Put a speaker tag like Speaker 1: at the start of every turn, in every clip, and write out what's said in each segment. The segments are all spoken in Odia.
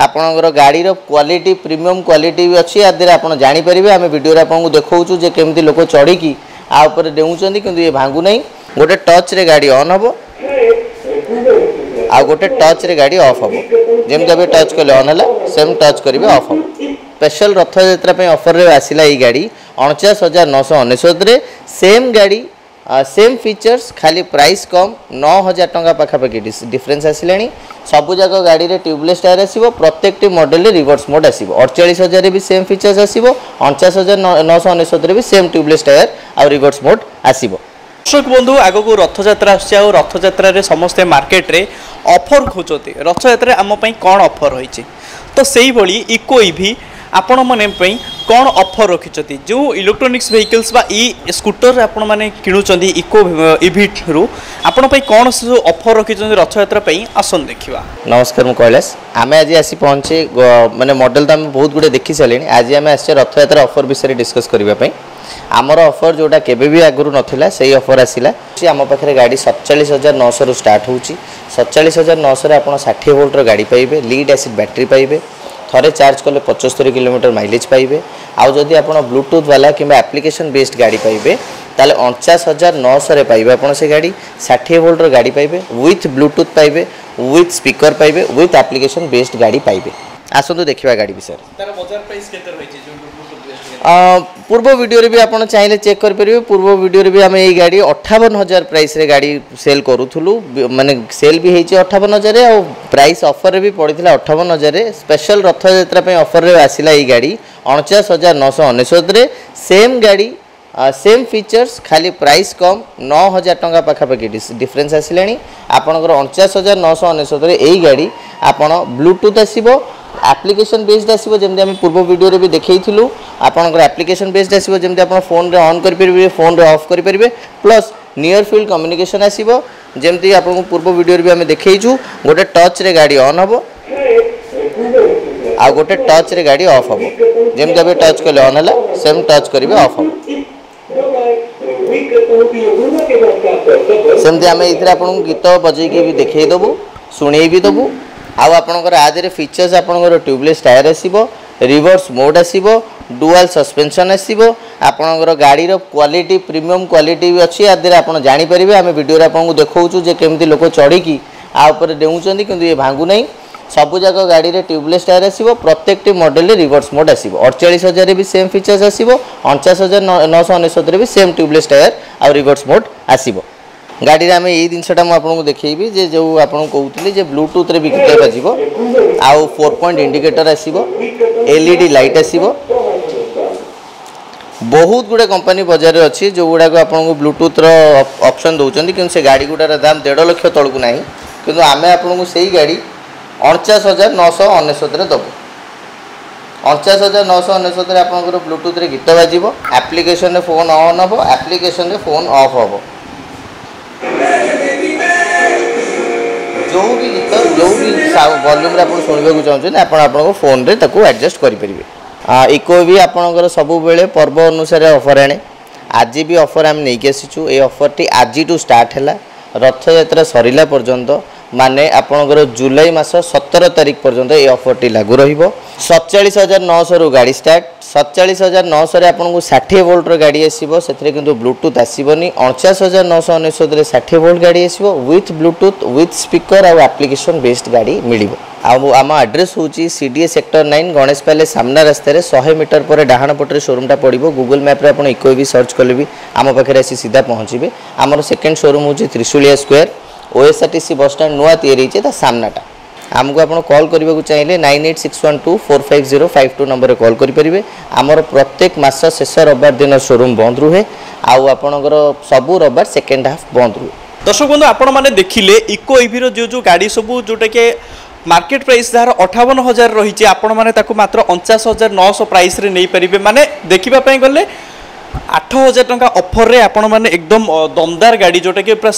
Speaker 1: ଆପଣଙ୍କର ଗାଡ଼ିର କ୍ୱାଲିଟି, ପ୍ରିମିୟମ୍ କ୍ୱାଲିଟି ବି ଅଛି। ୟା ଦେହରେ ଆପଣ ଜାଣିପାରିବେ, ଆମେ ଭିଡ଼ିଓରେ ଆପଣଙ୍କୁ ଦେଖାଉଛୁ ଯେ କେମିତି ଲୋକ ଚଢ଼ିକି ଆ ଉପରେ ଡେଉଁଛନ୍ତି, କିନ୍ତୁ ଇଏ ଭାଙ୍ଗୁନାହିଁ। ଗୋଟେ ଟଚ୍ରେ ଗାଡ଼ି ଅନ୍ ହେବ ଆଉ ଗୋଟେ ଟଚ୍ରେ ଗାଡ଼ି ଅଫ୍ ହେବ। ଯେମିତି ଏବେ ଟଚ୍ କଲେ ଅନ୍ ହେଲା, ସେମ୍ ଟଚ୍ କରିବେ ଅଫ୍ ହେବ। ସ୍ପେଶାଲ ରଥଯାତ୍ରା ପାଇଁ ଅଫରରେ ଆସିଲା ଏଇ ଗାଡ଼ି 49,999ରେ। ସେମ୍ ଗାଡ଼ି, ସେମ୍ ଫିଚର୍ସ, ଖାଲି ପ୍ରାଇସ୍ କମ୍, 9,000 ଟଙ୍କା ପାଖାପାଖି ଡିଫରେନ୍ସ ଆସିଲାଣି। ସବୁଯାକ ଗାଡ଼ିରେ ଟ୍ୟୁବଲେସ୍ ଟାୟାର ଆସିବ, ପ୍ରତ୍ୟେକଟି ମଡ଼େଲରେ ରିଭର୍ସ ମୋଡ଼ ଆସିବ। 48,000ରେ ବି ସେମ୍ ଫିଚର୍ସ ଆସିବ, 49,999ରେ ବି ସେମ୍ ଟ୍ୟୁବଲେସ୍ ଟାୟାର ଆଉ ରିଭର୍ସ ମୋଡ଼ ଆସିବ।
Speaker 2: ଦର୍ଶକ ବନ୍ଧୁ, ଆଗକୁ ରଥଯାତ୍ରା ଆସୁଛି ଆଉ ରଥଯାତ୍ରାରେ ସମସ୍ତେ ମାର୍କେଟରେ ଅଫର୍ ଖୋଜନ୍ତି, ରଥଯାତ୍ରାରେ ଆମ ପାଇଁ କ'ଣ ଅଫର୍ ରହିଛି। ତ ସେଇଭଳି ଇକୋ ଇଭି ଆପଣମାନଙ୍କ ପାଇଁ କ'ଣ ଅଫର୍ ରଖିଛନ୍ତି, ଯେଉଁ ଇଲେକ୍ଟ୍ରୋନିକ୍ସ ଭେହିକଲ୍ସ ବା ଇ ସ୍କୁଟର ଆପଣମାନେ କିଣୁଛନ୍ତି ଇକୋ ଇଭିରୁ, ଆପଣଙ୍କ ପାଇଁ କ'ଣ ସବୁ ଅଫର୍ ରଖିଛନ୍ତି ରଥଯାତ୍ରା ପାଇଁ, ଆସନ୍ତୁ ଦେଖିବା।
Speaker 1: ନମସ୍କାର, ମୁଁ କୈଳାସ। ଆମେ ଆଜି ଆସି ପହଞ୍ଚି ମାନେ ମଡ଼େଲ ତ ଆମେ ବହୁତ ଗୁଡ଼ିଏ ଦେଖି ସାରିଲେଣି। ଆଜି ଆମେ ଆସିଛେ ରଥଯାତ୍ରା ଅଫର୍ ବିଷୟରେ ଡିସ୍କସ୍ କରିବା ପାଇଁ। ଆମର ଅଫର୍ ଯେଉଁଟା କେବେ ବି ଆଗରୁ ନଥିଲା, ସେଇ ଅଫର୍ ଆସିଲା। ଆମ ପାଖରେ ଗାଡ଼ି 47,900ରୁ ଷ୍ଟାର୍ଟ ହେଉଛି। 47,900ରେ ଆପଣ 60 ଭୋଲ୍ଟର ଗାଡ଼ି ପାଇବେ, ଲିଡ୍ ଆସିଡ୍ ବ୍ୟାଟେରୀ ପାଇବେ, ଥରେ ଚାର୍ଜ କଲେ 75 କିଲୋମିଟର ମାଇଲେଜ୍ ପାଇବେ। ଆଉ ଯଦି ଆପଣ ବ୍ଲୁଟୁଥ୍ ବାଲା କିମ୍ବା ଆପ୍ଲିକେସନ୍ ବେସ୍ଡ ଗାଡ଼ି ପାଇବେ, ତାହେଲେ 49,900ରେ ପାଇବେ ଆପଣ ସେ ଗାଡ଼ି। 60 ଭୋଲ୍ଟର ଗାଡ଼ି ପାଇବେ, ୱିଥ୍ ବ୍ଲୁଟୁଥ୍ ପାଇବେ, ୱିଥ୍ ସ୍ପିକର ପାଇବେ, ୱିଥ୍ ଆପ୍ଲିକେସନ୍ ବେସ୍ଡ ଗାଡ଼ି ପାଇବେ। ଆସନ୍ତୁ ଦେଖିବା ଗାଡ଼ି ବିଷୟରେ।
Speaker 2: ତାର ବଜାର ପ୍ରାଇସ୍ କେତେ ରହିଛି ଯେଉଁ ବ୍ଲୁଟୁଥ୍ ବେସ୍ଡ?
Speaker 1: ପୂର୍ବ ଭିଡ଼ିଓରେ ବି ଆପଣ ଚାହିଁଲେ ଚେକ୍ କରିପାରିବେ। ପୂର୍ବ ଭିଡ଼ିଓରେ ବି ଆମେ ଏଇ ଗାଡ଼ି 58,000 ପ୍ରାଇସ୍ରେ ଗାଡ଼ି ସେଲ୍ କରୁଥିଲୁ, ମାନେ ସେଲ୍ ବି ହେଇଛି 58,000 ଆଉ ପ୍ରାଇସ୍ ଅଫର୍ରେ ବି ପଡ଼ିଥିଲା 58,000। ସ୍ପେଶାଲ ରଥଯାତ୍ରା ପାଇଁ ଅଫର୍ରେ ଆସିଲା ଏଇ ଗାଡ଼ି 49,999ରେ। ସେମ୍ ଗାଡ଼ି, ସେମ୍ ଫିଚର୍ସ, ଖାଲି ପ୍ରାଇସ୍ କମ୍, 9,000 ଟଙ୍କା ପାଖାପାଖି ଡିଫରେନ୍ସ ଆସିଲାଣି। ଆପଣଙ୍କର 49,999ରେ ଏଇ ଗାଡ଼ି ଆପଣ ବ୍ଲୁଟୁଥ୍ ଆସିବ, ଆପ୍ଲିକେସନ୍ ବେସ୍ଡ ଆସିବ, ଯେମିତି ଆମେ ପୂର୍ବ ଭିଡ଼ିଓରେ ବି ଦେଖେଇଥିଲୁ। ଆପଣଙ୍କର ଆପ୍ଲିକେସନ୍ ବେସ୍ଡ ଆସିବ, ଯେମିତି ଆପଣ ଫୋନ୍ରେ ଅନ୍ କରିପାରିବେ, ଫୋନ୍ରେ ଅଫ୍ କରିପାରିବେ, ପ୍ଲସ୍ ନିୟର ଫିଲ୍ଡ କମ୍ୟୁନିକେସନ୍ ଆସିବ, ଯେମିତି ଆପଣଙ୍କୁ ପୂର୍ବ ଭିଡ଼ିଓରେ ବି ଆମେ ଦେଖେଇଛୁ। ଗୋଟେ ଟଚ୍ରେ ଗାଡ଼ି ଅନ୍ ହେବ ଆଉ ଗୋଟେ ଟଚ୍ରେ ଗାଡ଼ି ଅଫ୍ ହେବ। ଯେମିତି ଏବେ ଟଚ୍ କଲେ ଅନ୍ ହେଲା, ସେମ୍ ଟଚ୍ କରିବେ ଅଫ୍ ହେବ। ସେମିତି ଆମେ ଏଇଥିରେ ଆପଣଙ୍କୁ ଗୀତ ବଜେଇକି ବି ଦେଖେଇ ଦେବୁ, ଶୁଣେଇ ବି ଦେବୁ। ଆଉ ଆପଣଙ୍କର ଆ ଦେହରେ ଫିଚର୍ସ ଆପଣଙ୍କର ଟ୍ୟୁବଲେସ୍ ଟାୟାର ଆସିବ, ରିଭର୍ସ ମୋଡ଼ ଆସିବ, ଡୁଆଲ୍ ସସ୍ପେନ୍ସନ୍ ଆସିବ। ଆପଣଙ୍କର ଗାଡ଼ିର କ୍ୱାଲିଟି, ପ୍ରିମିୟମ୍ କ୍ୱାଲିଟି ବି ଅଛି। ୟା ଦେହରେ ଆପଣ ଜାଣିପାରିବେ, ଆମେ ଭିଡ଼ିଓରେ ଆପଣଙ୍କୁ ଦେଖାଉଛୁ ଯେ କେମିତି ଲୋକ ଚଢ଼ିକି ଆ ଉପରେ ଡେଉଁଛନ୍ତି, କିନ୍ତୁ ଇଏ ଭାଙ୍ଗୁନାହିଁ। ସବୁଯାକ ଗାଡ଼ିରେ ଟ୍ୟୁବଲେସ୍ ଟାୟାର ଆସିବ, ପ୍ରତ୍ୟେକଟି ମଡ଼େଲରେ ରିଭର୍ସ ମୋଡ଼ ଆସିବ। 48,000ରେ ବି ସେମ୍ ଫିଚର୍ସ ଆସିବ, 49,999ରେ ବି ସେମ୍ ଟ୍ୟୁବଲେସ୍ ଟାୟାର ଆଉ ରିଭର୍ସ ମୋଡ଼ ଆସିବ। ଗାଡ଼ିରେ ଆମେ ଏଇ ଜିନିଷଟା ମୁଁ ଆପଣଙ୍କୁ ଦେଖେଇବି ଯେ ଯେଉଁ ଆପଣଙ୍କୁ କହୁଥିଲି ଯେ ବ୍ଲୁଟୁଥ୍ରେ ବି ଗୀତ ବାଜିବ ଆଉ 4 ପଏଣ୍ଟ ଇଣ୍ଡିକେଟର ଆସିବ, ଏଲ୍ଇଡି ଲାଇଟ୍ ଆସିବ। ବହୁତ ଗୁଡ଼େ କମ୍ପାନୀ ବଜାରରେ ଅଛି ଯେଉଁଗୁଡ଼ାକ ଆପଣଙ୍କୁ ବ୍ଲୁଟୁଥ୍ର ଅପସନ୍ ଦେଉଛନ୍ତି, କିନ୍ତୁ ସେ ଗାଡ଼ି ଗୁଡ଼ାର ଦାମ 1.5 ଲକ୍ଷ ତଳକୁ ନାହିଁ। କିନ୍ତୁ ଆମେ ଆପଣଙ୍କୁ ସେଇ ଗାଡ଼ି 49,999ରେ ଦେବୁ। 49,999ରେ ଆପଣଙ୍କର ବ୍ଲୁଟୁଥ୍ରେ ଗୀତ ବାଜିବ, ଆପ୍ଲିକେସନରେ ଫୋନ୍ ଅନ୍ ହେବ, ଆପ୍ଲିକେସନରେ ଫୋନ୍ ଅଫ୍ ହେବ। ଯେଉଁ ବି ଗୀତ, ଯେଉଁ ବି ଭଲ୍ୟୁମ୍ରେ ଆପଣ ଶୁଣିବାକୁ ଚାହୁଁଛନ୍ତି, ଆପଣ ଆପଣଙ୍କ ଫୋନ୍ରେ ତାକୁ ଆଡ଼ଜଷ୍ଟ କରିପାରିବେ। ଇକୋ ବି ଆପଣଙ୍କର ସବୁବେଳେ ପର୍ବ ଅନୁସାରେ ଅଫର୍ ଆଣେ। ଆଜି ବି ଅଫର୍ ଆମେ ନେଇକି ଆସିଛୁ। ଏଇ ଅଫର୍ଟି ଆଜିଠୁ ଷ୍ଟାର୍ଟ ହେଲା, ରଥଯାତ୍ରା ସରିଲା ପର୍ଯ୍ୟନ୍ତ, ମାନେ ଆପଣଙ୍କର ଜୁଲାଇ ମାସ 17 ତାରିଖ ପର୍ଯ୍ୟନ୍ତ ଏଇ ଅଫର୍ଟି ଲାଗୁ ରହିବ। 47,900ରୁ ଗାଡ଼ି ଷ୍ଟାର୍ଟ। 47,900ରେ ଆପଣଙ୍କୁ 60 ଭୋଲ୍ଟର ଗାଡ଼ି ଆସିବ, ସେଥିରେ କିନ୍ତୁ ବ୍ଲୁଟୁଥ୍ ଆସିବନି। 49,999ରେ 60 ଭୋଲ୍ଟ ଗାଡ଼ି ଆସିବ, ୱିଥ୍ ବ୍ଲୁଟୁଥ୍, ୱିଥ୍ ସ୍ପିକର ଆଉ ଆପ୍ଲିକେସନ୍ ବେସ୍ଡ ଗାଡ଼ି ମିଳିବ। ଆଉ ଆମ ଆଡ୍ରେସ୍ ହେଉଛି ସିଡିଏ ସେକ୍ଟର 9, ଗଣେଶ ପ୍ୟାଲେସ୍ ସାମ୍ନା ରାସ୍ତାରେ 100 ମିଟର ପରେ ଡାହାଣ ପଟରେ ସୋରୁମ୍ଟା ପଡ଼ିବ। ଗୁଗଲ୍ ମ୍ୟାପ୍ରେ ଆପଣ ଇକୋ ବି ସର୍ଚ୍ଚ କଲେ ବି ଆମ ପାଖରେ ଆସି ସିଧା ପହଞ୍ଚିବେ। ଆମର ସେକେଣ୍ଡ ସୋରୁମ୍ ହେଉଛି ତ୍ରିଶୁଳିଆ ସ୍କୋୟାର, ଓଏସ୍ଆର୍ଟିସି ବସଷ୍ଟାଣ୍ଡ ନୂଆ ତିଆରି ହେଇଛି, ତା ସାମ୍ନାଟା। ଆମକୁ ଆପଣ କଲ୍ କରିବାକୁ ଚାହିଁଲେ 9861245052 ନମ୍ବରରେ କଲ୍ କରିପାରିବେ। ଆମର ପ୍ରତ୍ୟେକ ମାସ ଶେଷ ରବିବାର ଦିନ ସୋରୁମ୍ ବନ୍ଦ ରୁହେ ଆଉ ଆପଣଙ୍କର ସବୁ ରବିବାର ସେକେଣ୍ଡ ହାଫ୍ ବନ୍ଦ ରୁହେ।
Speaker 2: ଦର୍ଶକ ବନ୍ଧୁ, ଆପଣମାନେ ଦେଖିଲେ ଇକୋ ଇଭିର ଯେଉଁ ଯେଉଁ ଗାଡ଼ି ସବୁ, ଯେଉଁଟାକି ମାର୍କେଟ ପ୍ରାଇସ୍ ଯାହାର 58,000 ରହିଛି, ଆପଣମାନେ ତାକୁ ମାତ୍ର 49,900 ପ୍ରାଇସ୍ରେ ନେଇପାରିବେ। ମାନେ ଦେଖିବା ପାଇଁ ଗଲେ 8,000 ଟଙ୍କା ଅଫରରେ ଆପଣମାନେ ଏକଦମ ଦମଦାର ଗାଡ଼ି, ଯେଉଁଟାକି ପୁରା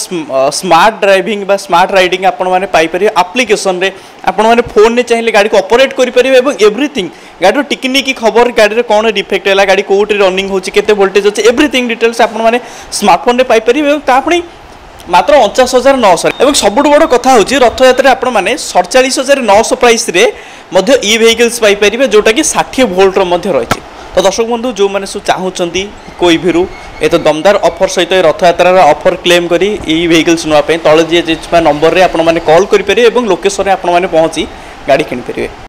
Speaker 2: ସ୍ମାର୍ଟ ଡ୍ରାଇଭିଂ ବା ସ୍ମାର୍ଟ ରାଇଡ଼ିଂ ଆପଣମାନେ ପାଇପାରିବେ। ଆପ୍ଲିକେସନରେ ଆପଣମାନେ ଫୋନ୍ରେ ଚାହିଁଲେ ଗାଡ଼ିକୁ ଅପରେଟ୍ କରିପାରିବେ ଏବଂ ଏଭ୍ରିଥିଙ୍ଗ, ଗାଡ଼ିର ଟିକିନିକି ଖବର, ଗାଡ଼ିରେ କ'ଣ ଡିଫେକ୍ଟ ହେଲା, ଗାଡ଼ି କେଉଁଠି ରନିଂ ହେଉଛି, କେତେ ଭୋଲ୍ଟେଜ୍ ଅଛି, ଏଭ୍ରିଥିଙ୍ଗ ଡିଟେଲ୍ସ ଆପଣମାନେ ସ୍ମାର୍ଟଫୋନ୍ରେ ପାଇପାରିବେ ଏବଂ ତା ପୁଣି ମାତ୍ର 49,900। ଏବଂ ସବୁଠୁ ବଡ଼ କଥା ହେଉଛି, ରଥଯାତ୍ରାରେ ଆପଣମାନେ 47,900 ପ୍ରାଇସ୍ରେ ମଧ୍ୟ ଇ ଭେହିକିଲ୍ସ ପାଇପାରିବେ, ଯେଉଁଟାକି 60 ଭୋଲ୍ଟର ମଧ୍ୟ ରହିଛି। ତ ଦର୍ଶକ ବନ୍ଧୁ, ଯେଉଁମାନେ ସବୁ ଚାହୁଁଛନ୍ତି ଇକୋ ଇଭିରୁ ଏତେ ଦମଦାର ଅଫର୍ ସହିତ ଏ ରଥଯାତ୍ରାର ଅଫର୍ କ୍ଲେମ୍ କରି ଇ ଭେହିକିଲ୍ସ ନେବା ପାଇଁ, ତଳେ ଯିଏ ଥିବା ନମ୍ବରରେ ଆପଣମାନେ କଲ୍ କରିପାରିବେ ଏବଂ ଲୋକେସନରେ ଆପଣମାନେ ପହଞ୍ଚି ଗାଡ଼ି କିଣିପାରିବେ।